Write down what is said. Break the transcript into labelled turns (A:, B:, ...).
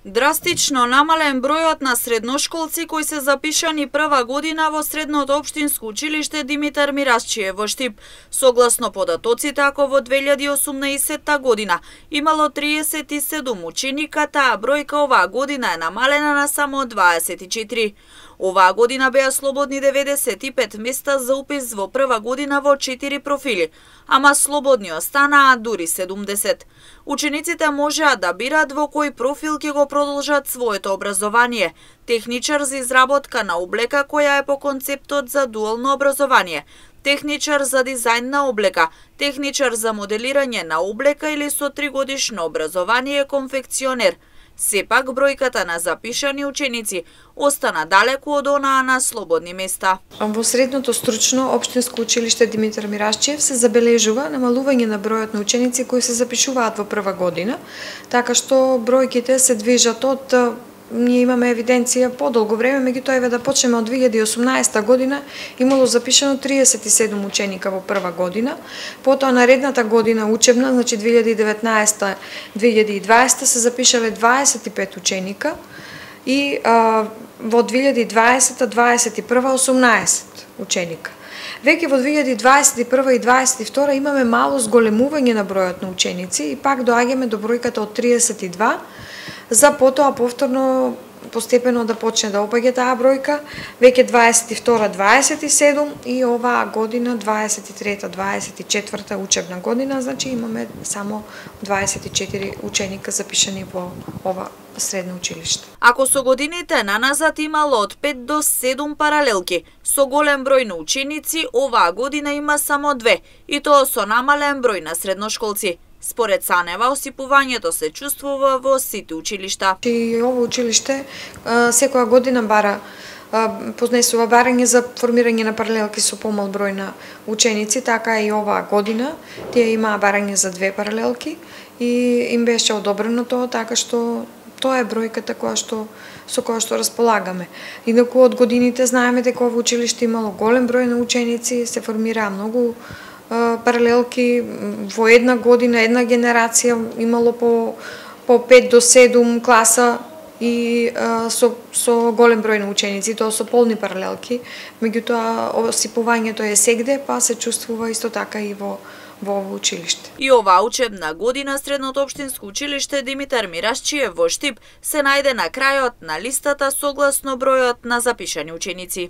A: Драстично намален бројот на средношколци кои се запишани прва година во средното општинско училиште Димитар Мирасчиев во Штип. Согласно податоците, ако во 2018 година имало 37 ученика, таа бројка оваа година е намалена на само 24. Оваа година беа слободни 95 места за упис во прва година во 4 профили, ама слободни останаа дури 70. Учениците можеа да бират во кој профил ќе го продолжат своето образование. Техничар за изработка на облека која е по концептот за дуално образование, техничар за дизајн на облека, техничар за моделирање на облека или со 3-годишно образование конфекционер. Сепак бројката на запишани ученици остана далеку од онаа на слободни места.
B: Во средното стручно општинско училиште Димитар Мирасчиев се забележува намалување на бројот на ученици кои се запишуваат во прва година, така што бројките се движат од ние имаме евиденција подолго време, меѓутоа еве да почнеме од 2018 година имало запишано 37 ученика во прва година, потоа наредната година учебна, значи 2019-2020 се запишале 25 ученика и во 2020-2021 18 ученика. Веќе во 2021 и 2022 имаме мало зголемување на бројот на ученици и пак доаѓаме до бројката од 32, за потоа повторно постепено да почне да опаѓа таа бројка, веќе 22-27 и оваа година 23-24 учебна година, значи имаме само 24 ученика запишани во ова средно училиште.
A: Ако со годините наназад имало од 5 до 7 паралелки, со голем број на ученици, оваа година има само 2, и тоа со намален број на средношколци. Според Санева, осипувањето се чувствува во сите училишта.
B: И ово училиште секоја година поднесува барање за формирање на паралелки со помал број на ученици, така и оваа година тие имаа барање за 2 паралелки и им беше одобрено тоа, така што тоа е бројката со која што располагаме. Инаку од годините знаеме дека ово училиште имало голем број на ученици, се формираа многу паралелки во една година, една генерација имало по 5 до 7 класа и со голем број на ученици, тоа со полни паралелки, меѓутоа осипувањето е сегде, па се чувствува исто така и во ово училиште.
A: И оваа учебна година средното општинско училиште Димитар Мирасчиев во Штип се најде на крајот на листата согласно бројот на запишани ученици.